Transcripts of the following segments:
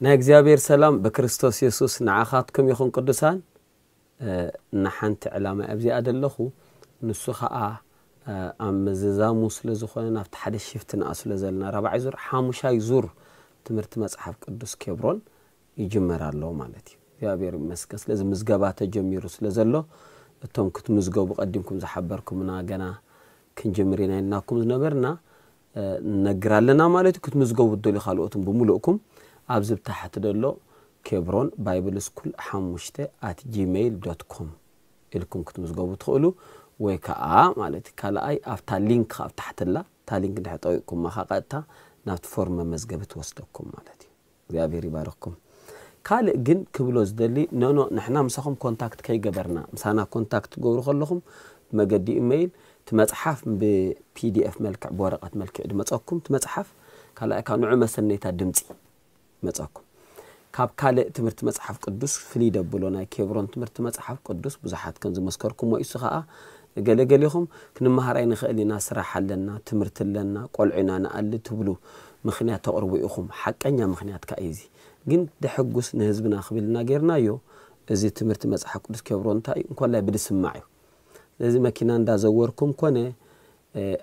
ናይ እግዚኣብሔር ሰላም ብክርስቶስ የሱስ ንዓኻትኩም ይኹን ቅዱሳን። ንሓንቲ ዕላማ ኣብዚኣ ደለኹ፣ ንሱ ኸዓ ኣብ ምዝዛሙ ስለ ዝኾነ ናብቲ ሓደ ሽፍት ንኣ ስለ ዘለና ራብዓይ ዙር ሓሙሻይ ዙር ትምህርቲ መጽሓፍ ቅዱስ ኬብሮን ይጅመር ኣሎ ማለት እዩ። እግዚኣብሔር ይመስገን። ስለዚ ምዝገባ ተጀሚሩ ስለ ዘሎ እቶም ክትምዝገቡ ቀዲምኩም ዝሓበርኩምና ገና ክንጅምር ኢና ኢልናኩም ዝነበርና ነግር ኣለና ማለት እዩ። ክትምዝገቡ ትደልዩ ካልኦትን ብምሉእኩም ኣብዚ ብታሕቲ ደሎ ኬብሮን ባይብል ስኩል ሓሙሽተ ኣት ጂሜይል ዶት ኮም ኢልኩም ክትምዝገቡ ትኽእሉ፣ ወይ ከዓ ማለት እዩ ካልኣይ ኣብታ ሊንክ ኣብ ታሕትላ እታ ሊንክ እንድሕር ጠዊቕኩማ ከዓ ቀጥታ ናብቲ ፎርም መመዝገቢ ትወስደኩም ማለት እዩ። እግዚኣብሔር ይባርኽኩም። ካልእ ግን ክብሎ ዝደሊ፣ ኖኖ ንሕና ምሳኹም ኮንታክት ከይገበርና፣ ምሳና ኮንታክት ትገብሩ ከለኹም ብመገዲ ኢሜይል እቲ መጽሓፍ ብፒዲኤፍ መልክዕ ብወረቐት መልክዕ ድመጸኩም እቲ መጽሓፍ፣ ካልኣይ ካብ ንዑ መሰነይታ ድምጺ መጸኩም። ካብ ካልእ ትምህርቲ መጽሓፍ ቅዱስ ፍልይ ደብሎ ናይ ኬብሮን ትምህርቲ መጽሓፍ ቅዱስ ብዙሓት ከም ዝመስከርኩሞ ኢሱ ኸኣ ገለገሊኹም ክንመሃር ኣይንኽእል ኢና፣ ስራሕ ኣለና፣ ትምህርቲ ኣለና፣ ቆልዑ ኢና ንኣሊ ትብሉ ምኽንያት ተቕርቡ ኢኹም። ሓቀኛ ምኽንያት ከኣ እዩ እዚ። ግን ደሐጉስ ንህዝብና ክብል ኢና ጌርናዮ። እዚ ትምህርቲ መጽሓፍ ቅዱስ ኬብሮን እንታይ እዩ? እንኮላይ ብድስማዕ እዩ። ስለዚ መኪና እንዳዘወርኩም ኮነ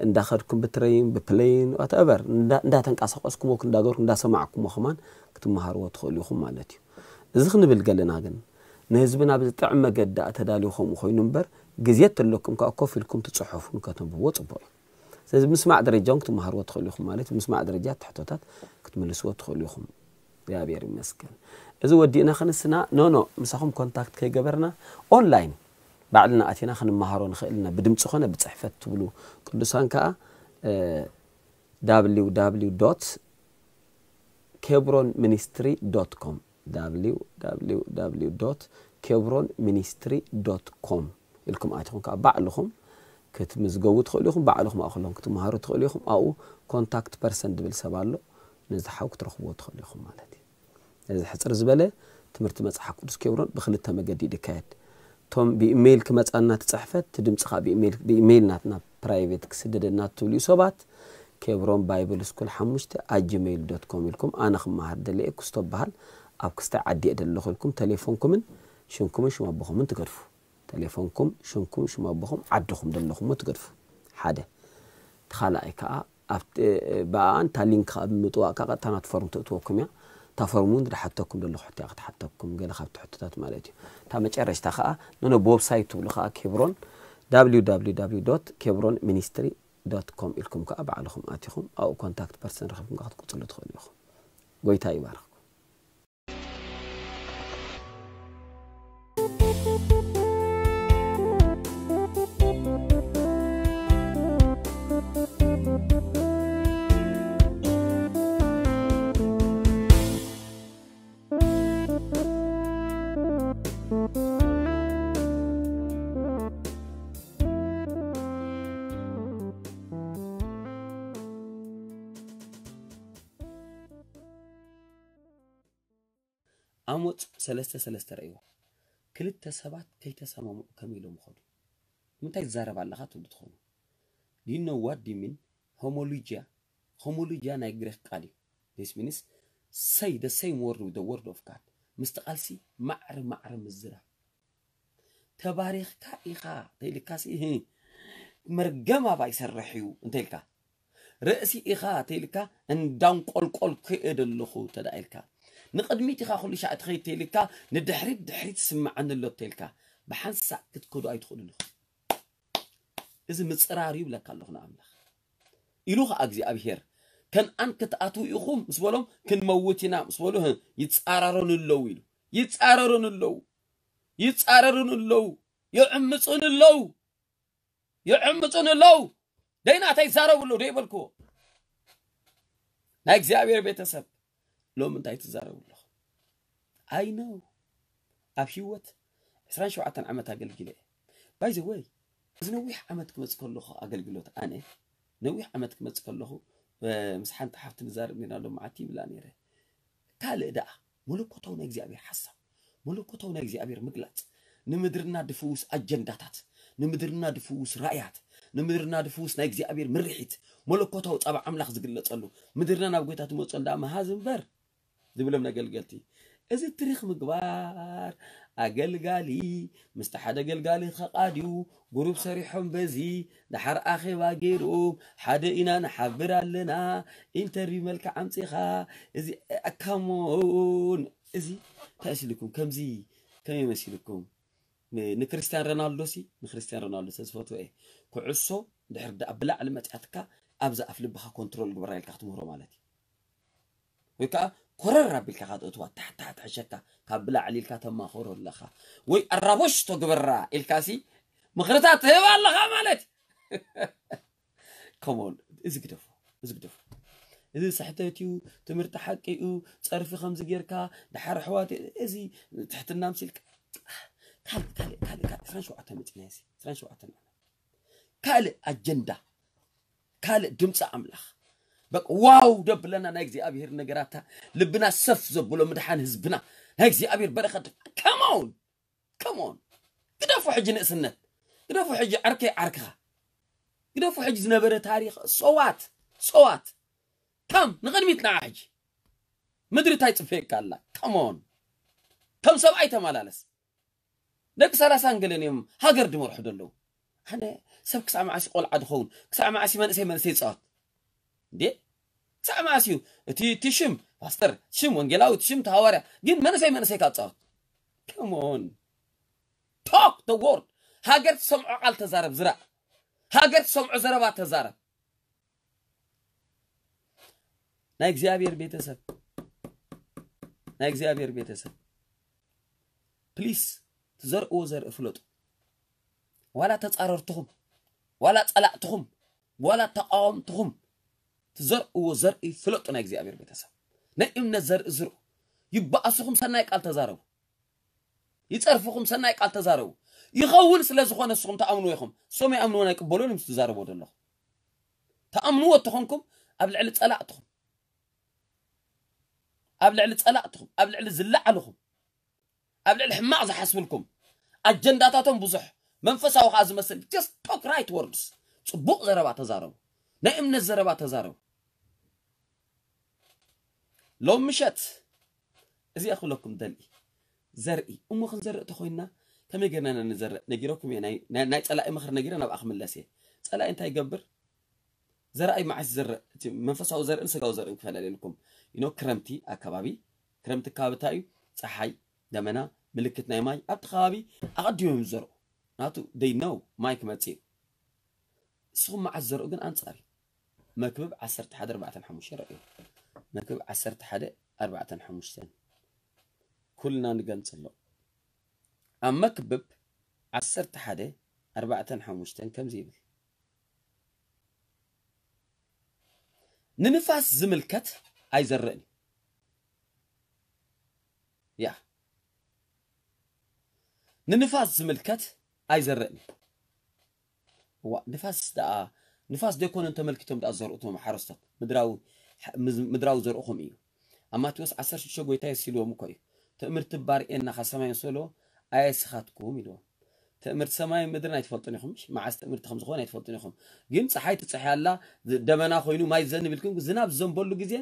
እንዳኸድኩም ብትረይን ብፕለይን ዋትኤቨር እንዳተንቀሳቀስኩሞ እንዳገርኩም እንዳሰማዕኩሞ ከማን ክትመሃርዎ ትኽእሉ ኢኹም ማለት እዩ። እዚ ክንብል ገለና ግን ንህዝብና ብዝጥዕም መገዲ ኣተዳልዩ ከምኡ ኮይኑ እምበር ግዜ ተለኩም ከዓ ኮፍ ኢልኩም ትፅሑፉን ከተንብብዎ ፅቡቅ እዩ። ስለዚ ምስማዕ ደረጃ እውን ክትመሃርዎ ትኽእሉ ኢኹም ማለት ምስማዕ ደረጃ ትሕቶታት ክትምልስዎ ትኽእሉ ኢኹም። እግዚኣብሔር ይመስገን። እዚ ወዲእና ክንስና ኖኖ ምሳኹም ኮንታክት ከይገበርና ኦንላይን ባዕልና ኣቲና ክንመሃሮ ንኽእል ኢና። ብድምፂ ኾነ ብፅሕፈት ትብሉ ቅዱሳን ከዓ www kebronministry.com www kebronministry.com ኢልኩም ኣቲኹም ከዓ ባዕልኹም ክትምዝገቡ ትኽእሉ ኢኹም። ባዕልኹም ኣእክሎም ክትመሃሩ ትኽእሉ ኢኹም። ኣብኡ ኮንታክት ፐርሰን ዝብል ሰብ ኣሎ። ነዚ ሓው ክትረኽብዎ ትኽእሉ ኢኹም ማለት እዩ። እዚ ሕፅር ዝበለ ትምህርቲ መፅሓፍ ቅዱስ ኬብሮን ብክልተ መገዲ እዩ ዝካየድ። እቶም ብኢሜይል ክመፃና ትፅሕፈት እቲ ድምፂ ከዓ ብኢሜይል ናትና ፕራይቬት ክስደደና ትብልዩ ሰባት ኬብሮን ባይብል ስኩል ሓሙሽተ ኣት ጂሜይል ዶት ኮም ኢልኩም ኣነ ክመሃር ደለየ ክስቶ በሃል ኣብ ክስታይ ዓዲ እየ ደለኹ ኢልኩም ተሌፎንኩምን ሽምኩምን ሽም ኣቦኹምን ትገድፉ። ተሌፎንኩም ሽምኩም ሽም ኣቦኹም ዓድኹም ደለኹሞ ትገድፉ። ሓደ እቲ ካልኣይ ከዓ ኣብቲ ብኣኣን እታ ሊንክ ከዓ ብምጥዋቅ ከዓ ቀጥታ ናቲ ፎርም ትእትወኩም እያ። እታ ፎርም እውን ዝሓተኩም ደለኹ ሕቶ እያ ክትሓተኩም ገለ ካብቲ ሕቶታት ማለት እዩ። እታ መጨረሽታ ከዓ ነነ ብወብሳይት ትብሉ ከዓ ኬብሮን www kebronministry.com ኢልኩም ከዓ ባዕልኹም ኣቲኹም ኣብኡ ኮንታክት ፐርሰን ረኺብኩም ከዓ ክትቅፅሉ ትኽእሉ ኢኹም። ጎይታ ይባርኽኩም። ኣሞጽ ሰለስተ ሰለስተ ረእይዎ። ክልተ ሰባት ከይተሰማምዑ ከመይ ኢሎም ይኸዱ? ንምንታይ ትዛረብ ኣለኻ ትብሉ ትኾኑ። Do you know what do you mean? ሆሞሎጂያ። ሆሞሎጂያ ናይ ግሪክ ቃል እዩ። This means say the same word with the word of God። ምስቲ ቃልሲ ማዕረ ማዕረ ምዝራብ። ተባሪኽካ ኢኻ ተይልካሲ መርገም ኣባ ይሰርሕ እዩ እንተይልካ ርእሲ ኢኻ ተይልካ እንዳንቆልቆል ክእደ ኣለኹ ተዳ ኢልካ ንቕድሚት ኢኻ ኩሉ ሻዕ ትኸይድ ተይልካ ንድሕሪት ድሕሪት ስምዓኒ ኣሎ ተይልካ ብሓንሳእ ክትከዱ ኣይትኽእሉን ኢኹም። እዚ ምፅራር እዩ ብለካ ኣለኹ ንኣምላኽ ኢሉ ኸዓ እግዚኣብሄር። ከነኣን ክትኣትዉ ኢኹም ምስ በሎም ክንመውት ኢና ምስ በሉ ይፃረሩን ኣለዉ ኢሉ። ይፃረሩን ኣለዉ። ይፃረሩን ኣለዉ። ይዕምፁን ኣለዉ። ይዕምፁን ኣለዉ። ደይናተይ ይዛረቡ ኣለዉ ደይበልክዎ ናይ እግዚኣብሔር ቤተሰብ ሎም እንታይ ትዛረቡ ኣለኹ? ኣይ ነው ኣብ ህይወት ዕስራን ሸውዓተን ዓመት ኣገልጊለ እየ። ባይ ዘ ወይ እዚ ነዊሕ ዓመት ክመፅ ከለኹ ኣገልግሎት ኣነ ነዊሕ ዓመት ክመፅ ከለኹ ምስ ሓንቲ ሓፍቲ ንዛረብ ኔርና ሎም መዓልቲ ይብላ ነይረ። ካልእ ደኣ መለኮታዊ ናይ እግዚኣብሔር ሓሳብ መለኮታዊ ናይ እግዚኣብሔር ምግላፅ ንምድርና ድፍውስ ኣጀንዳታት ንምድርና ድፍውስ ራእያት ንምድርና ድፍውስ ናይ እግዚኣብሔር ምርሒት መለኮታዊ ፃባ ኣምላኽ ዝግለፀሉ ምድርና ናብ ጎይታ ትመፀሉ ደኣ መሃዝ እምበር ዝብሎም ነገልገልቲ። እዚ ትሪኽ ምግባር ኣገልጋሊ ምስቲ ሓደ ኣገልጋሊ ከቓድዩ ጉሩብ ሰሪሖም በዚ ደሓር ኣኼባ ገይሮም ሓደ ኢና ንሓብር ኣለና ኢንተርቪው መልክዕ ኣምፂኻ እዚ ኣካሞን እዚ እንታይ መሲልኩም ከምዚ ከመይ መሲልኩም ንክርስቲያን ሮናልዶ ሲ ንክርስቲያን ሮናልዶ ተዝፈትዎ እየ ኩዕሶ ድሕር ዳ ብላዕሊ መፅኣትካ ኣብዛ ኣፍ ልብኻ ኮንትሮል ግበራ ኢልካ ክትምህሮ ማለት እዩ ወይ ከዓ ኮረር ኣቢልካ ካትእትዋ ታሕታሕት ሕሸካ ካብ ብላዕሊ ኢልካ ተማኸሮ ኣለኻ ወይ ኣራቦሽቶ ግበራ ኢልካ ሲ ምኽርታት ትህብ ኣለኻ ማለት ከሞን እዚ ግደፉ እዚ ግደፉ እዚ ስሕተት እዩ ትምህርቲ ሓቂ እዩ ፀርፊ ከምዚ ጌርካ ድሓር ኣሕዋት እዚ ትሕትና ምሲልካ ካልእ ካልእ ካልእ ካልእ ዕስራን ሸውዓተን መፂና እዚ ዕስራን ሸውዓተን ካልእ ኣጀንዳ ካልእ ድምፂ ኣምላኽ በቃ ዋው ደብለና ናይ እግዚኣብሔር ነገራታ ልብና ሰፍ ዘብሎ ምድሓን ህዝብና ናይ እግዚኣብሔር በረኸት come on come on ግደፉ ሕጂ ንእስነት ግደፉ ሕጂ ዓርከይ ዓርክኻ ግደፉ ሕጂ ዝነበረ ታሪኽ so what so what come ንቕድሚት ንዓ ሕጂ ምድሪ እንታይ ፅፈየካ ኣላ come on ከም ሰብኣይ ተመላለስ ደቂ ሰላሳን ገለን እዮም ሃገር ድመርሑ ዘለዉ ኣነ ሰብ ክሳዕ መዓሲ ቆልዓ ድኸውን ክሳዕ መዓሲ መንእሰይ መንእሰይ ይፃወት እንዴ ክሳዕ መዓሲ እዩ እቲ እቲ ሽም ፓስተር እቲ ሽም ወንጌላዊ እቲ ሽም ተሃዋርያ ግን መንእሰይ መንእሰይ ካፃወት come on talk the word ሃገር ትሰምዖ ቃል ተዛረብ ዝራእ ሃገር ትሰምዖ ዘረባ ተዛረብ ናይ እግዚኣብሔር ቤተሰብ ናይ እግዚኣብሔር ቤተሰብ ፕሊስ ትዘርእዎ ዘርኢ ፍለጡ ዋላ ተፃረርትኹም ዋላ ፀላእትኹም ዋላ ተቃወምትኹም ትዘርእዎ ዘርኢ ፍለጡ ናይ እግዚኣብሔር ቤተሰብ ናይ እምነት ዘርኢ ዝርኡ ይበኣስኹም ሰናይ ቃል ተዛረቡ ይፀርፍኹም ሰናይ ቃል ተዛረቡ ይኸውን ስለ ዝኾነ ንስኹም ተኣምንዎ ኢኹም እሶም ይኣምንዎ ናይ ቅበሉን ምስ ትዛረብዎ ዘለኹም ተኣምንዎ እተኾንኩም ኣብ ልዕሊ ፀላእትኹም ኣብ ልዕሊ ፀላእትኹም ኣብ ልዕሊ ዝለዓልኹም ኣብ ልዕሊ ሕማቕ ዝሓስብልኩም ኣጀንዳታቶም ብዙሕ መንፈሳዊ ከዓ ዝመስል just talk right words ፅቡቕ ዘረባ ተዛረቡ ናይ እምነት ዘረባ ተዛረቡ ሎም ምሸት እዚኣ ክብለኩም ደሊ ዘርኢ እሞ ክንዘርእ ተኮይንና ከመይ ገርና ኢና ንዘርእ ነጊረኩም እየ ናይ- ናይ ናይ ፀላኢ ምኽሪ ነጊረ ናብኣ ክምለስ እየ ፀላኢ እንታይ ይገብር ዘርኣይ መዓስ ዝዘርእ እቲ መንፈሳዊ ዘርእን ስጋዊ ዘርእን ክፈላለየልኩም ኢኖ ክረምቲ ኣከባቢ ክረምቲ ከባቢ እንታይ እዩ ፀሓይ ደመና ምልክት ናይ ማይ ኣብቲ ከባቢ ኣቐዲሞም ዝዘርኡ ናቱ ደይ ነው ማይ ክመፅእ እዩ ንስኹም መዓስ ዘርኡ ግን ኣንፃር እዩ መክብብ ዓሰርተ ሓደ ኣርባዕተ ሓሙሽተ ረእዩ መክብብ ዓሰርተ ሓደ ኣርባዕተ ሓሙሽተ ኩልና ንገንፅሎ ኣብ መክብብ ዓሰርተ ሓደ ኣርባዕተ ሓሙሽተ ከምዚ ይብል ንንፋስ ዝምልከት ኣይዘርእን ያ ንንፋስ ዝምልከት ኣይዘርእን እዋ ንፋስ ደኣ ንፋስ ደይኮነን ተመልኪቶም ደኣ ዘርኡ እቶም ሓረስቶት ምድራዊ ምድራዊ ዘርእኹም እዩ ኣብ ማቴዎስ ዓሰርተ ሽዱሽተ ጎይታ የስ ኢልዎም እኮ እዩ ትእምርቲ ባርኤና ካብ ሰማይ መሰሎ ኣየስኻትኩም ኢልዎም ትእምርቲ ሰማይ ምድርን ኣይትፈልጡን ኢኹም መዓስ ትእምርቲ ከም ዝኾነ ኣይትፈልጡን ኢኹም ግን ፀሓይ ትፅሕያ ኣላ ደመና ኮይኑ ማይ ዘንብ ኢልኩም ዝናብ ዘንበሉ ግዜ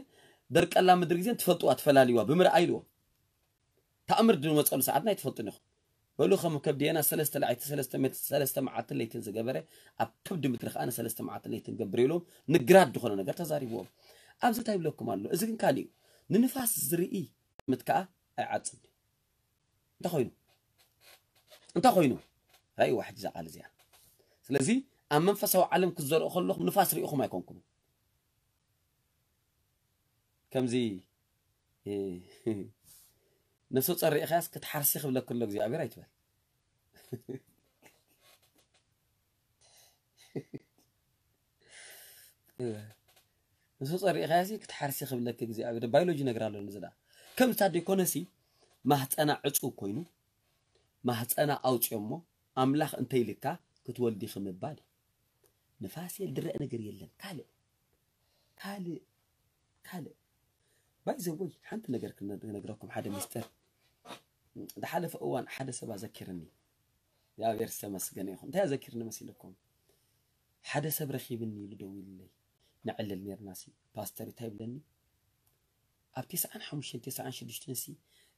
ደርቀላ ምድሪ ግዜ ትፈልጥዋ ትፈላልዋ ብምርኣይ ኢልዎም ተኣምር ድመፀሉ ሰዓትና ኣይትፈልጡን ኢኹም በሉ ከም ከብድየና ሰለስተ ለዓይቲ ሰለስተ ሜትር ሰለስተ መዓልትን ለይትን ዝገበረ ኣብ ከብዲ ምድሪ ከዓ ንሰለስተ መዓልትን ለይትን ገብር ኢሎም ንግራት ዝኾነ ነገር ተዛሪብዎም ኣብዚ እንታይ ይብለኩም ኣሎ እዚ ግን ካሊእ እዩ ንንፋስ ዝርኢ ምት ከዓ ኣይዓፅን እንታይ ኮይኑ እንታይ ኮይኑ ራእይዋ ሕጂ እዛ ቃል እዚኣ ስለዚ ኣብ መንፈሳዊ ዓለም ክትዘርኡ ከለኹም ንፋስ ርኢኹም ኣይኮንኩም ከምዚ ነፍሰ ጾር ርኢኻያስ ክትሓርሲ ክብለክ ኣሎ እግዚኣብሔር ኣይትበል ነፍሰ ጾር ርኢኻያሲ ክትሓርሲ ክብለክ እግዚኣብሔር ባዮሎጂ ነገር ኣሎ ንዝዳ ከም ዝታ ደይኮነሲ ማህፀና ዕፁ ኮይኑ ማህፀና ኣውፅዮሞ ኣምላኽ እንተይልካ ክትወልዲ ክምባል ንፋስ የል ድረእ ነገር የለን ካልእ ካልእ ካልእ ባይዘወይ ሓንቲ ነገር ክነግረኩም ሓደ ሚስጥር ዝሓለፈ እዋን ሓደ ሰብ ኣዘኪርኒ እግዚኣብሔር ዝተመስገነ ይኹን እንታይ ኣዘኪርኒ መሲልኩም ሓደ ሰብ ረኺብኒ ኢሉ ደዊልለይ ንዕልል ነርና ሲ ፓስተር እንታይ ይብለኒ ኣብ ተስዓን ሓሙሽተን ተስዓን ሽዱሽተን ሲ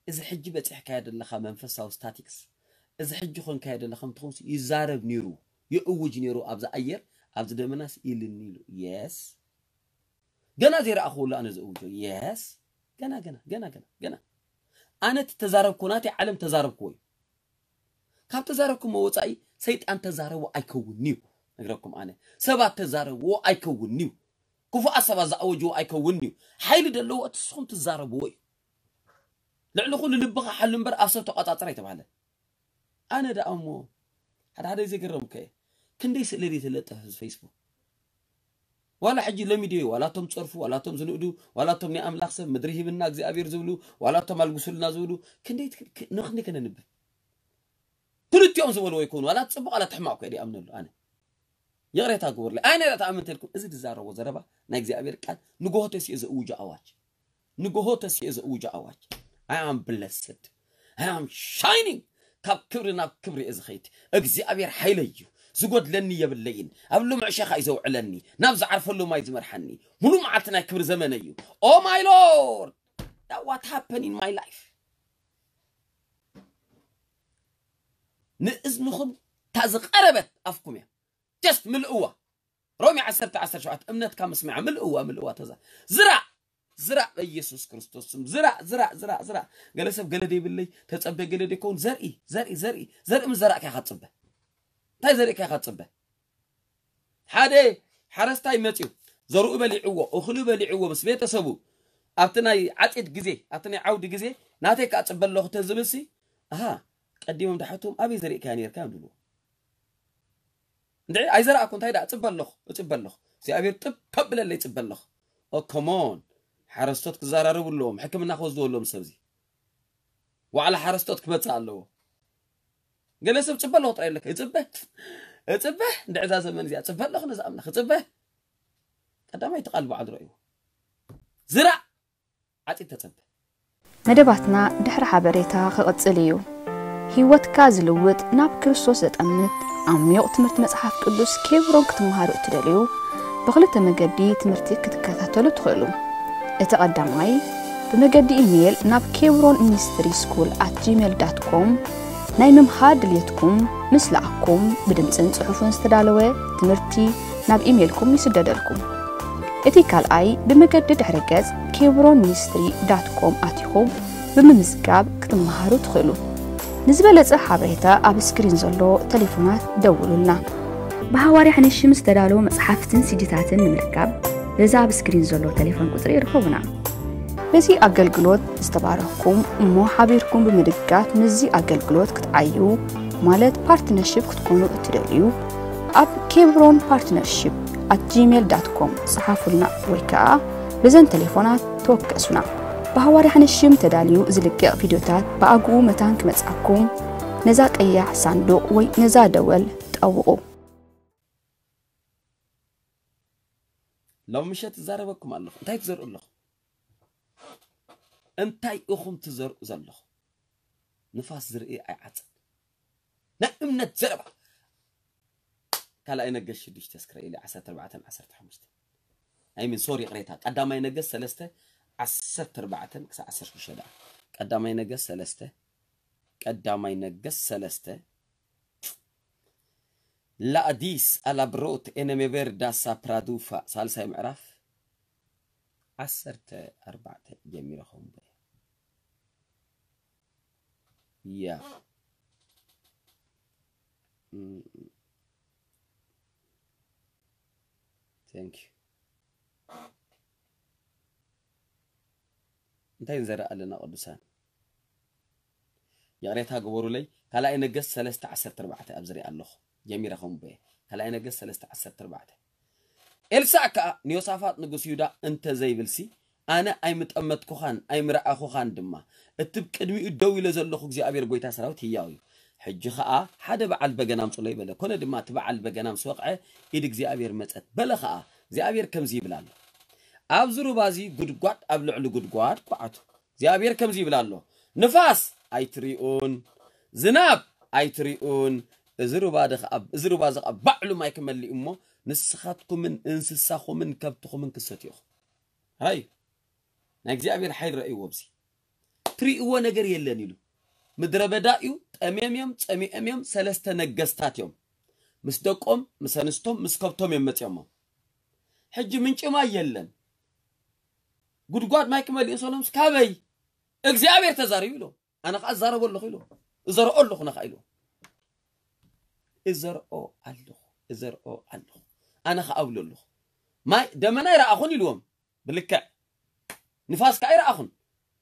እዚ ሕጂ በፂሕካዮ ዘለኻ መንፈሳዊ ስታቲክስ፣ እዚ ሕጂ ኮንካዮ ዘለኻ ምትኾንሲ ይዛረብ ነይሩ፣ ይእውጅ ነይሩ። ኣብዚ ኣየር፣ ኣብዚ ደመናስ ኢልኒ ኢሉ። የስ፣ ገና ዘይረኣኽዎ ኣሎ ኣነ ዝእውጆ። የስ፣ ገና ገና ገና ገና ገና ኣነ እቲ ተዛረብኩ፣ ናተይ ዓለም ተዛረብክዎ እዩ። ካብ ተዛረብኩሞ ወፃኢ ሰይጣን ተዛረቦ ኣይከውንዩ። ነግረኩም ኣነ፣ ሰባት ተዛረብዎ ኣይከውንዩ። ክፉኣት ሰባት ዝኣወጅዎ ኣይከውንዩ። ሓይሊ ዘለዎ እቲ ንስኹም ትዛረብዎ እዩ። ልዕሊ ኩሉ ልብኻ ሓሉ እምበር ኣብ ሰብ ተቋፃፅር ኣይተባህለ። ኣነ ደኣ እሞ ሓደ ሓደ ግዜ ገረምከ እየ። ክንደይ ስእሊ ድዩ ትለጥፍ ኣብዚ ፌስቡክ? ዋላ ሕጂ ሎሚ ድዩ ዋላ እቶም ዝፀርፉ፣ ዋላ እቶም ዝንእዱ፣ ዋላ እቶም ናይ ኣምላኽ ሰብ ምድሪ ሂብና እግዚኣብሔር ዝብሉ፣ ዋላ እቶም ኣልግሱልና ዝብሉ፣ ክንደይ ት- ክ- ንክንደይ ከነንብብ? ክልቲኦም ዝበልዎ ይኮኑ፣ ዋላ እቲ ፅቡቅ ዋላ እቲ ሕማቅ እኮ ድኣምነሉ ኣነ። ይቕሬታ ግበሩለይ። ኣነ ዳ ተኣምንተ ኢልኩም እዚ ዝዛረቦ ዘረባ ናይ እግዚኣብሔር ቃል ንግሆ ተሲኡ ዘእውጆ ኣዋጅ፣ ንግሆ ተሲኡ ዘእውጆ ኣዋጅ። I am blessed, I am shining። ካብ ክብሪ ናብ ክብሪ እየ ዝኸይድ። እግዚኣብሔር ሓይለይ እዩ፣ ዝጎድለኒ የብለይን። ኣብ ልሙዕ ሸኻ እዩ ዘውዕለኒ፣ ናብ ዝዓርፈሉ ማይ ዝመርሓኒ። ሙሉ መዓልቲ ናይ ክብሪ ዘመነ እዩ። Oh my Lord, that what happened in my life። ንእዝንኹም እታ ዝቐረበት ኣፍኩም እያ። Just ምልእዋ። ሮሜ ዓሰርተ ዓሰርተ ሸውዓተ እምነትካ ምስምዓ ምልእዋ፣ ምልእዋ ተዛ ዝራእ፣ ዝራእ በኢየሱስ ክርስቶስ ስም ዝራእ፣ ዝራእ፣ ዝራእ፣ ዝራእ። ገለ ሰብ ገለ ደይብለይ ተጸበ፣ ገለ ደይከውን ዘርኢ፣ ዘርኢ፣ ዘርኢ፣ ዘርኢ ምስ ዘራእካ ኢኻ ትጽበ። እንታይ ዘሪእካ ኢኻ ትጽበ? ሓደ ሓረስታይ መጺኡ ዘርኡ በሊዕዎ፣ እኽሉ በሊዕዎ ምስ ቤተሰቡ ኣብቲ ናይ ዓጺድ ግዜ፣ ኣብቲ ናይ ዓውዲ ግዜ ናተይ ክጽበ ኣለኹ ተዝብልሲ፣ ኣሃ፣ ቀዲሞም ድሓቶም ኣበይ ዘሪእካያ ነይርካ እዮም ዝብልዎ። እንድዒ ኣይዘራእኩ እንታይ ደኣ እጽበ ኣለኹ፣ እጽበ ኣለኹ። እግዚኣብሔር ጥብ ከብለለይ እጽበ ኣለኹ። ኦ ኮሞን ሓረስቶት ክዘራረቡ ኣለዎም፣ ሕክምና ክወስድዎ ኣለዎም ሰብዚ። ዋዕላ ሓረስቶት ክመጽእ ኣለዎ። ገለ ሰብ ጽበ ኣለኹ ጥራይ ኣለካ፣ እጽበ እጽበ እንድዒ እዛ ዘመን እዚኣ እጽበ ኣለኹ ነዚ ኣምላኽ እጽበ። ቀዳማይ እቲ ቃል በዓል ረእይዎ ዝራእ ዓጺድ ተጸበ። መደባትና ድሕሪ ሓበሬታ ክቕጽል እዩ። ህይወትካ ዝልውጥ ናብ ክርስቶስ ዘጠምት ዓሚቕ ትምህርቲ መጽሓፍ ቅዱስ ኬብሮን ክትመሃሩ እትደልዩ ብኽልተ መገዲ ትምህርቲ ክትከታተሉ ትኽእሉ። እቲ ቀዳማይ ብመገዲ ኢሜይል ናብ ኬብሮን ሚኒስትሪ ስኩል ኣት ጂሜል ዳት ኮም ናይ ምምሃር ድልየትኩም ምስ ለኣኩም ብድምፅን ፅሑፍን ዝተዳለወ ትምህርቲ ናብ ኢሜይልኩም ይስደደልኩም። እቲ ካልኣይ ብመገዲ ድሕረ ገጽ ኬብሮን ሚኒስትሪ ዳት ኮም ኣቲኹም ብምምዝጋብ ክትመሃሩ ትኽእሉ። ንዝበለጸ ሓበሬታ ኣብ ስክሪን ዘሎ ተሌፎናት ደውሉልና። ብሃዋርያ ሕንሽም ዝተዳለዉ መጽሓፍትን ሲዲታትን ንምርካብ በዚ ኣብ ስክሪን ዘሎ ተሌፎን ቁጽሪ ይርከቡና። በዚ ኣገልግሎት ዝተባረኽኩም እሞ ሓቢርኩም ብምድጋፍ ምስዚ ኣገልግሎት ክትዓዩ ማለት ፓርትነርሺፕ ክትኮኑ እትደልዩ ኣብ ኬብሮን ፓርትነርሺፕ ኣት ጂሜል ዳት ኮም ጸሓፉልና ወይ ከኣ በዘን ተሌፎናት ተወከሱና። ብሃዋርያ ሕንሽም ተዳልዩ ዝልቀቕ ቪድዮታት ብኣግኡ መታን ክመጽኣኩም ነዛ ቀያሕ ሳንዱቕ ወይ ነዛ ደወል ጠውቑ። ሎም ምሸት እዛረበኩም ኣለኹ። እንታይ ትዘርኡ ኣለኹ? እንታይ ኢኹም ትዘርኡ ዘለኹ? ንፋስ ዝርኢ ኣይዓጽን። ናይ እምነት ዘረባ። ካልኣይ ነገስ ሽዱሽተ እስክረ ኢለ ዓሰርተ ኣርባዕተን ዓሰርተ ሓሙሽተን። ኣይ ሚን ሶሪ ይቕሬታ። ቀዳማይ ነገስ ሰለስተ ዓሰርተ ኣርባዕተን ክሳብ ዓሰርተ ሽዱሽተ ደኣ። ቀዳማይ ነገስ ሰለስተ ቀዳማይ ነገስ ሰለስተ ላኣዲስ ኣላብሮት ኤነሜቤር ዳሳ ፕራዱፋ ሳልሳይ ምዕራፍ ዓሰርተ ኣርባዕተ ጀሚረ ከንብቦ እየ። ያ ቴንክ ዩ። እንታይ ንዘርእ ኣለና ቅዱሳን? ይቕሬታ ግበሩለይ። ካልኣይ ነገስት ሰለስተ ዓሰርተ ኣርባዕተ ኣብ ዝሪኣ ኣለኹ። ጀሚረ ከንብቦ እየ። ካልኣይ ነገስት ሰለስተ ዓሰርተ ኣርባዕተ። ኤልሳዕ ከኣ ንዮሳፋጥ ንጉስ ይሁዳ እንተ ዘይብልሲ፣ ኣነ ኣይምጠመትኩኻን ኣይምረኣኹኻን ድማ። እቲ ብቅድሚኡ ደው ኢለ ዘለኹ እግዚኣብሔር ጐይታ ሰራዊት ህያው እዩ። ሕጂ ኸኣ ሓደ በዓል በገና ኣምጹለይ በለ። ኮነ ድማ እቲ በዓል በገና ምስ ወቕዐ፣ ኢድ እግዚኣብሔር መጸት። በለ ኸኣ፣ እግዚኣብሔር ከምዚ ይብል ኣሎ፣ ኣብዚ ሩባ እዚ ጒድጓድ ኣብ ልዕሊ ጒድጓድ ኳዕቱ። እግዚኣብሔር ከምዚ ይብል ኣሎ፣ ንፋስ ኣይትሪኡን፣ ዝናብ ኣይትሪኡን፣ እዚ ሩባ እዚ ኸኣ ባዕሉ ማይ ክመልእ እዩ እሞ፣ ንስኻትኩምን እንስሳኹምን ከብትኹምን ክትሰትዩ ኢኹም። ራእዩ። ናይ እግዚኣብሔር ሓይል ረእይዎ ኣብዚ። ትርእይዎ ነገር የለን ኢሉ። ምድረ በዳ እዩ። ጠምዮም እዮም፣ ጸሚኦም እዮም። ሰለስተ ነገስታት እዮም። ምስ ደቆም፣ ምስ ኣንስቶም፣ ምስ ከብቶም እዮም መጺኦሞ። ሕጂ ምንጪ ማይ የለን። ጉድጓድ ማይ ክመልኡ ሰሎምስ ካበይ እግዚኣብሔር ተዛሪቡ ኢሎም። ኣነ ኸዓ እዛረቦ ኣለኹ ኢሎም። እዘርኦ ኣለኹ ነኻ ኢሎም። እዘርኦ ኣለኹ፣ እዘርኦ ኣለኹ። ኣነ ኸዓ እብሎ ኣለኹ። ማይ ደመና ይረኣኹን ኢልዎም። ብልክዕ ንፋስ ከዓ ይረኣኹን።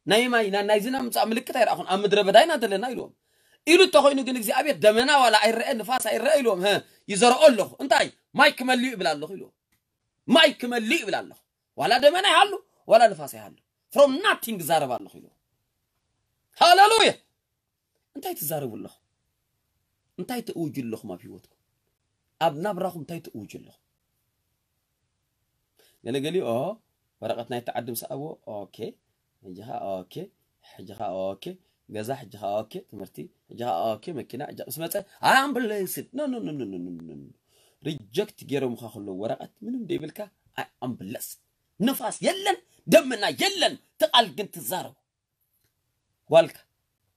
ናይ ማይ፣ ና-፣ ናይ ዝናብ ምጻእ ምልክት ኣይረኣኹን። ኣብ ምድረ በዳ ኢና ዘለና ኢልዎም። ኢሉ እንተኾይኑ ግን እግዚኣብሔር ደመና ዋላ ኣይረአ፣ ንፋስ ኣይረአ ኢልዎም። ሀ፣ ይዘርኦ ኣለኹ። እንታይ? ማይ ክመልእ ይብል ኣለኹ ኢልዎም። ማይ ክመልእ ይብል ኣለኹ። ዋላ ደመና ይሃሉ፣ ዋላ ንፋስ ይሃሉ። From nothing ዛረብ ኣለኹ ኢልዎም። ሃሌሉያ! እንታይ ትዛረቡ ኣለኹም? እንታይ ትእውጁ ኣለኹም ኣብ ህይወትኩም? ኣብ ናብራኹም እንታይ ትእውጁ ኣለኹም? ገለገሊኦ ወረቐት ናይ ተዓዲ ምስ ኣዎ፣ ኦኬ፣ ሕጂ ኸዓ ኦኬ፣ ሕጂ ኸዓ ኦኬ፣ ገዛ ሕጂ ኸዓ ኦኬ፣ ትምህርቲ ሕጂ ኸዓ ኦኬ፣ መኪና ሕጂ ምስ መጸ፣ I am blessed። No, no, no, no, no, no, no, no. ሪጀክት ገይሮምኻ ከለዉ ወረቐት ምንም ደይብልካ፣ I am blessed። ንፋስ የለን፣ ደመና የለን፣ እቲ ቃል ግን ትዛረቡ። ጓልካ፣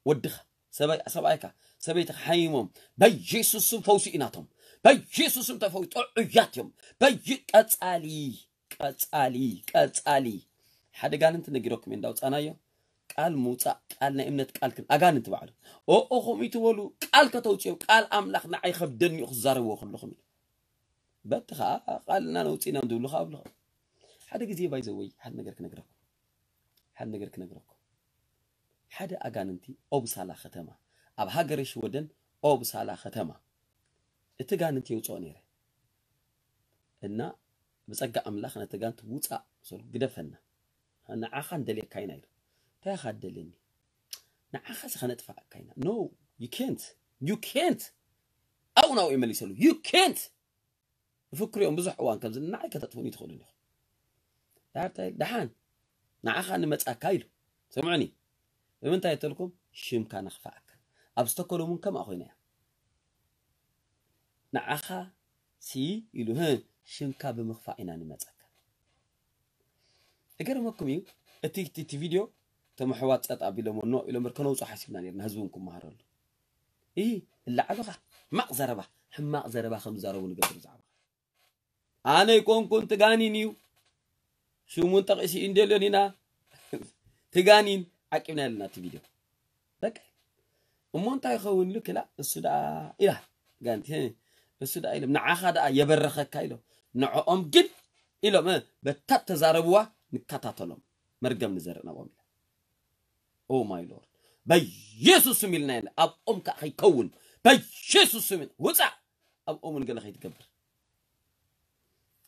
ወድኻ፣ ሰበይ-፣ ሰብኣይካ፣ ሰበይትኻ ሓሚሞም፣ በኢየሱስ ስም ፈውሲ እዩ ናቶም። በኢየሱስ ስም ተፈው-፣ ጥዑያት እዮም። በይ-፣ ቀጻሊ፣ ቀጻሊ፣ ቀጻሊ። ሓደ ጋንንቲ ነጊረኩም እየ እንዳውጻናዮ። ቃል ምውጻእ፣ ቃል ናይ እምነት ቃል ክን-፣ ኣጋንንቲ ባዕሉ። ኦኦ፣ ከምኡ ትበሉ፣ ቃል ከተውጽኦም፣ ቃል ኣምላኽ ንዓይ ከብደኒ እዩ ክዛረብዎ ከለኹም ኢሉ። በቲ ኸዓ ቃልና ነውጽእ ኢና እንድብሉ ኸዓ ኣብሉ። ሓደ ግዜ ባይ ዘወይ ሓደ ነገር ክነግረኩም። ሓደ ነገር ክነግረኩም። ሓደ ኣጋንንቲ ኦብሳላ ከተማ፣ ኣብ ሃገረ ሽወደን ኦብሳላ ከተማ፣ እቲ ጋንንቲ የውጽኦ ነይረ። እና ብጸጋ ኣምላኽ ነቲ ጋንንቲ ውጻእ፣ ሰሉ ግደፈና። ንዓኻ ንደልየካ ኢና ኢሉ። እንታይ ኢኻ ትደልየኒ? ንዓኻ ሲ ከነጥፍኣካ ኢና። No, you can't. You can't. ኣብኡ ናብኡ ይመሊሰሉ። You can't. ይፍክሩ እዮም ብዙሕ እዋን ከምዚ፣ ንዓይ ከተጥፉኒ ትኽእሉ ኢኹም። ዳርታይ ደሓን ንዓኻ ንመጻካ ኢሉ። ስምዑኒ። ብምንታይ እተልኩም? ሽምካ ነኽፍኣካ። ኣብ ስተኮሎም እውን ከምኣ ኮይና እያ። ንዓኻ ሲ ኢሉ፣ ህ፣ ሽምካ ብምኽፋእ ኢና ንመጻካ። እገርመኩም እዩ፣ እቲ፣ እቲ፣ እቲ ቪድዮ እቶም ኣሕዋት ጸጥ ኣቢሎሞ ኖ ኢሎም እምበር ከነውጽኦ ሓሲብና ነርና፣ ህዝቢ እውን ክመሃረሉ። እይ፣ እላዓሉኻ፣ ሕማቕ ዘረባ፣ ሕማቕ ዘረባ ከም ዝዛረቡ ንገብር ብዛዕባ። ኣነ ኣይኮንኩን፣ ትጋኒን እዩ። ሽሙን ጠቒሲ እንደልዮን ኢና። ትጋኒን ዓቂብና ኣለና እቲ ቪድዮ። በቃ። እሞ እንታይ ይኸውን ኢሉ ክላ፣ እሱ ደኣ ኢላ። ጋንቲ፣ እሱ ደኣ ኢሎም፣ ንዓኻ ደኣ የበረኸካ ኢሎም። ንዕኦም ግን ኢሎም፣ እ፣ በታ ተዛረብዋ ንከታተሎም። መርገም ንዘርእ ናብኦም ኢላ። Oh my Lord። በኢየሱስ ስም ኢልና ኢና። ኣብኦም ከኣ ከይከውን። በኢየሱስ ስም ኢልና። ውጻእ። ኣብኦም እውን ገለ ከይትገብር።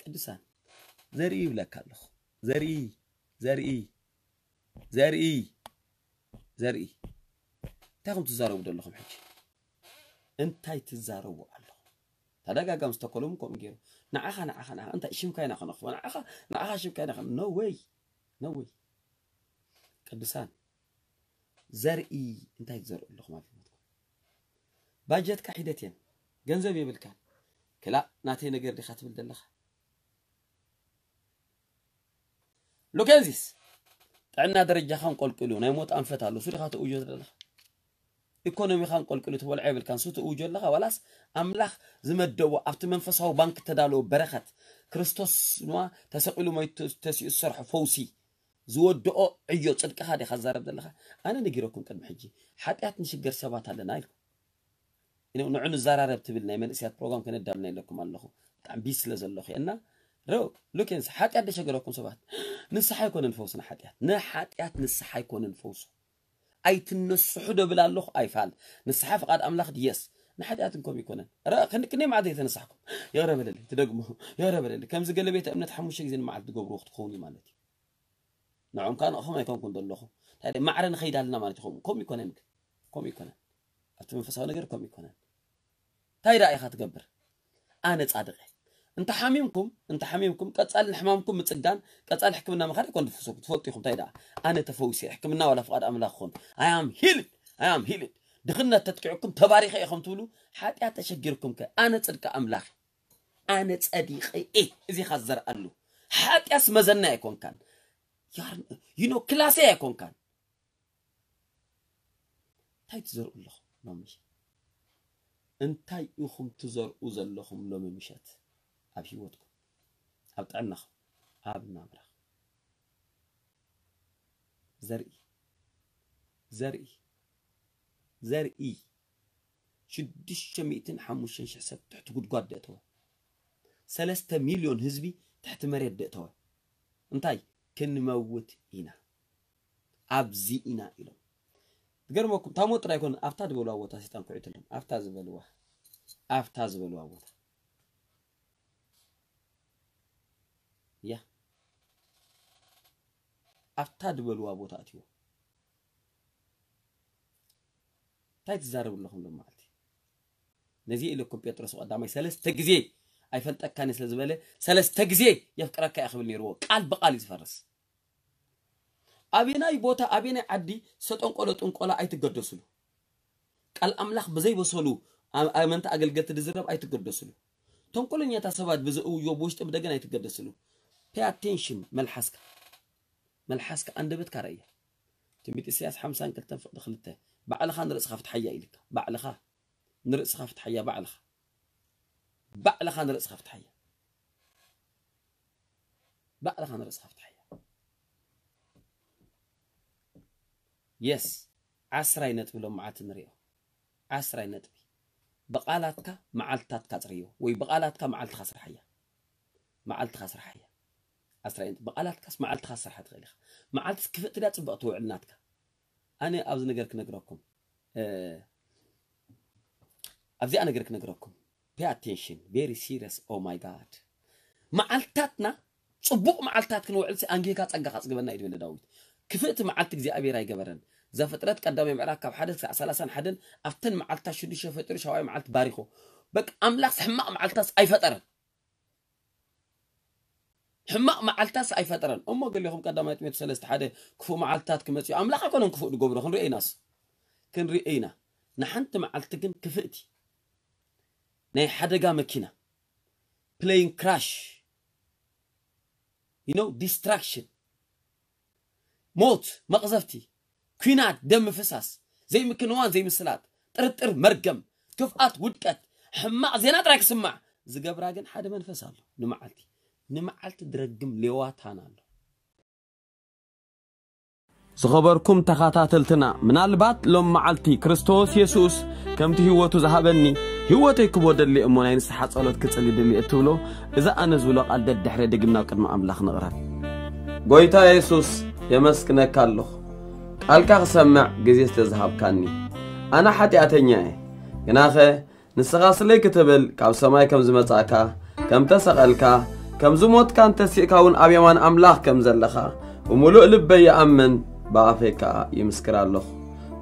ቅዱሳን፣ ዘርኢ ይብለካ ኣለኹ። ዘርኢ፣ ዘርኢ፣ ዘርኢ፣ ዘርኢ። እንታይ ኢኹም ትዛረቡ ዘለኹም ሕጂ? እንታይ ትዛረቡ ኣለኹም? ተደጋጋሚ ዝተኮሎም ከምኡ ገይሩ። ንዓኻ፣ ንዓኻ፣ ንዓኻ፣ እንታይ ሽምካ ኢና ከነኽፎ? ንዓኻ፣ ንዓኻ ሽምካ ኢና ከነ-፣ No way። No way። ቅዱሳን፣ ዘርኢ እንታይ ትዘርኡ ኣለኹም ኣብ ህይወትኩም? ባጀትካ ሒደት እየን። ገንዘብ የብልካን። ክላእ ናተይ ነገር ዲኻ ትብል ዘለኻ? ሉኬንዚስ፣ ጥዕና ደረጃኻ እንቆልቂሉ፣ ናይ ሞት ኣንፈት ኣሎ። እሱ ዲኻ ትእውጆ ዘለኻ? ኢኮኖሚኻ እንቆልቂሉ ትበልዖ የብልካን። እሱ ትእውጆ ኣለኻ? ዋላስ ኣምላኽ ዝመደቦ ኣብቲ መንፈሳዊ ባንክ እተዳለወ በረኸት፣ ክርስቶስ ድማ ተሰቒሉ ሞይቱ ተሲኡ ዝሰርሖ ፈውሲ፣ ዝወድኦ ዕዮ ጽድቅኻ ዲኻ ትዛረብ ዘለኻ? ኣነ ነጊረኩም ቅድሚ ሕጂ፣ ሓጢኣት ንሽገር ሰባት ኣለና ኢልኩም። ኢነ ንዑ ንዘራረብ ትብል ናይ መንእሰያት ፕሮግራም ከነዳልና ኢለኩም ኣለኹ። ብጣዕሚ ቢዚ ስለ ዘለኹ እየ። እና ሮ-፣ ሉኬንስ፣ ሓጢኣት ደሸገረኩም ሰባት? ንስሓ ኣይኮነን ፈውሲ ንሓጢኣት። ንሓጢኣት ንስሓ ኣይኮነን ፈውሱ። ኣይትነስሑ ደብል ኣለኹ ኣይፋል። ንስሓ ፍቓድ ኣምላኽ ድየስ። ንሓጢኣት እንኮም ይኮነን። ረ-፣ ክንዲ ክንደይ መዓልቲ ዘይተነሳሕኩም? ይቕረ በለለይ፣ ትደግሞ። ይቕረ በለለይ። ከምዚ ገለ ቤተ እምነት ሓሙሽተ ግዜ ንመዓልቲ ትገብርዎ ክትኸውን እዩ ማለት እዩ። ንዖም ከኣ ንዕኹም ኣይኮንኩን ዘለኹ። እንታይ ደኣ ማዕረ ንኸይድ ኣለና ማለት እዩ። ከምኡ፣ ከምኡ ይኮነን ግን። ከምኡ ይኮነን። ኣብቲ መንፈሳዊ ነገር ከምኡ ይኮነን። እንታይ ደኣ ኢኻ ትገብር? ኣነ ጻድቕ እየ። እንተ ሓሚምኩም፣ እንተ ሓሚምኩም፣ ቀጻሊ ንሕማምኩም ምጽጋን፣ ቀጻሊ ሕክምና ምኻድ ኣይኮን ትፍሱ-፣ ትፈልጡ ኢኹም። እንታይ ደኣ? ኣነ ተፈዊሰ፣ ሕክምና ዋላ ፍቓድ ኣምላኽ ኾን። I am healed, I am healed። ድኽነት ተጥቂዕኩም፣ ተባሪኸ ኢኹም ትብሉ፣ ሓጢኣት ተሸጊርኩም ከ? ኣነ ጽድቂ ኣምላኽ፣ ኣነ ጸዲቐ እየ። እዚ ኢኻ ዝዘርኣሉ። ሓጢኣትስ መዘና ኣይኮንካን። you know ክላሰይ ኣይኮንካን። እንታይ ትዘርኡ ኣለኹም ሎሚ? እንታይ ኢኹም ትዘርኡ ዘለኹም ሎሚ ምሸት? ኣብ ህይወትኩም፣ ኣብ ጥዕናኹም፣ ኣብ ናብራኹም። ዘርኢ ዘርኢ ዘርኢ ሽዱሽተ ሚእትን ሓሙሽተን ሽሕ ሰብ ትሕቲ ጉድጓድ ደእተወ። ሰለስተ ሚልዮን ህዝቢ ትሕቲ መሬት ደእተወ። እንታይ? ክንመውት ኢና፣ ኣብዚ ኢና ኢሎም። ትገርመኩም፣ ታሞ ጥራይ ኮነ ኣብታ ዝበልዋ ቦታ ሰይጣን ኩዒትሎም። ኣብታ ዝበልዋ ኣብታ ዝበልዋ ቦታ ያ ኣብታ ዝበልዋ ቦታ ኣትዎ። እንታይ ትዛረቡ ኣለኹም ሎም መዓልቲ? ነዚ ኢለኩም ጴጥሮስ ቀዳማይ ሰለስተ ግዜ ኣይፈልጠካን ስለ ዝበለ ሰለስተ ግዜ የፍቅረካ እየ ክብል ነይርዎ። ቃል ብቃል እዩ ዝፈርስ። ኣበናይ ቦታ ኣበናይ ዓዲ ሰጠንቆሎ ጥንቆላ ኣይትገደስሉ። ቃል ኣምላኽ ብዘይበሰሉ ኣመንቲ ኣገልገልቲ ዝዝረብ ኣይትገደስሉ። ተንኮለኛታት ሰባት ብዘእውዮ ብውሽጢ ብደገን ኣይትገደስሉ። Pay attention። መልሓስካ መልሓስካ ኣንደበትካ ረእያ። ትንቢት ኢሳያስ ሓምሳን ክልተን ፍቕዲ ክልተ፣ ባዕልኻ ንርእስኻ ፍትሓያ ኢልካ። ባዕልኻ ንርእስኻ ፍትሓያ። ባዕልኻ ባዕልኻ ንርእስኻ ፍትሓያ። ባዕልኻ ንርእስኻ ፍትሓያ። የስ። ዓስራይ ነጥቢ ሎም መዓልቲ ንሪኦ። ዓስራይ ነጥቢ። ብቓላትካ መዓልትታትካ ጽርዮ፣ ወይ ብቓላትካ መዓልትኻ ስርሓያ። መዓልትኻ ስርሓያ። ዓስራይ ነጥቢ። ብቓላትካስ መዓልትኻ ስርሓ ትኽእል ኢኻ። መዓልትስ ክፍእቲ ድያ ጽብቕቲ ውዕል ናትካ? ኣነ ኣብዚ ነገር ክነግረኩም ኣብዚኣ ነገር ክነግረኩም። Pay attention, very serious. Oh my God። መዓልትታትና ጽቡቕ መዓልትታት ክንውዕል ሲ ኣንጌጋ ጸጋ ካጽግበና እዩ ዝበለ ዳዊት። ክፍእቲ መዓልቲ እግዚኣብሔር ኣይገበረን። ዘፍጥረት ቀዳማይ ምዕራፍ ካብ ሓደ ክሳዕ ሰላሳን ሓደን ኣብተን መዓልትታት ሽዱሽተ ፈጢሩ ሻውዓይ መዓልቲ ባሪኾ። በቃ ኣምላኽ ሕማቕ መዓልትታስ ኣይፈጠረን። ሕማቕ መዓልትታስ ኣይፈጠረን። እሞ ገሊኹም ቀዳማይ ጢሞቴዎስ ሰለስተ ሓደ ክፉእ መዓልትታት ክመጽእ እዩ። ኣምላኽ ኣይኮነን ክፉእ ዝገብሮ። ክንርኢ ኢናስ። ክንርኢ ኢና። ንሓንቲ መዓልቲ ግን ክፍእቲ ናይ ሓደጋ መኪና፣ plane crash፣ you know፣ destruction፣ ሞት፣ መቕዘፍቲ፣ ኲናት፣ ደም ምፍሳስ፣ ዘይምክንዋን ዘይምስላጥ፣ ጥርጥር፣ መርገም፣ ክፍኣት፣ ውድቀት፣ ሕማቕ ዜና ጥራይ ክስማዕ ዝገብራ ግን ሓደ መንፈስ ኣሎ። ንመዓልቲ ንመዓልቲ ድረግም ሌዋታን ኣሎ። ዝኸበርኩም ተኸታተልትና፣ ምናልባት ሎም መዓልቲ ክርስቶስ የሱስ ከምቲ ህይወቱ ዝሃበኒ ህይወተይ ክቦ ደሊ እሞ ናይ ንስሓ ጸሎት ክጽሊ ደሊ እትብሎ፣ እዚ ኣነ ዝብሎ ቃል ደድሕረ ድግምና ኣብ ቅድሚ ኣምላኽ ንቕረብ። ጎይታ የሱስ፣ የመስግነካ ኣለኹ፣ ቃልካ ክሰምዕ ግዜ ስለ ዝሃብካኒ። ኣነ ሓጢኣተኛ እየ፣ ግናኸ ንስኻ ስለይ ክትብል ካብ ሰማይ ከም ዝመጻእካ፣ ከም ተሰቐልካ፣ ከም ዝሞትካን ተሲእካ እውን ኣብ የማን ኣምላኽ ከም ዘለኻ ብምሉእ ልበይ ይኣምን፣ ብኣፈይ ከኣ ይምስክር ኣለኹ።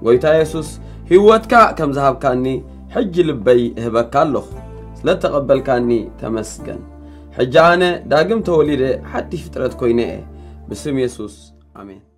ጎይታ የሱስ፣ ህይወትካ ከም ዝሃብካኒ ሕጂ ልበይ እህበካ ኣለኹ። ስለ እተቐበልካኒ ተመስገን። ሕጂ ኣነ ዳግም ተወሊደ ሓድሽ ፍጥረት ኮይነ እየ። ብስም የሱስ፣ ኣሜን።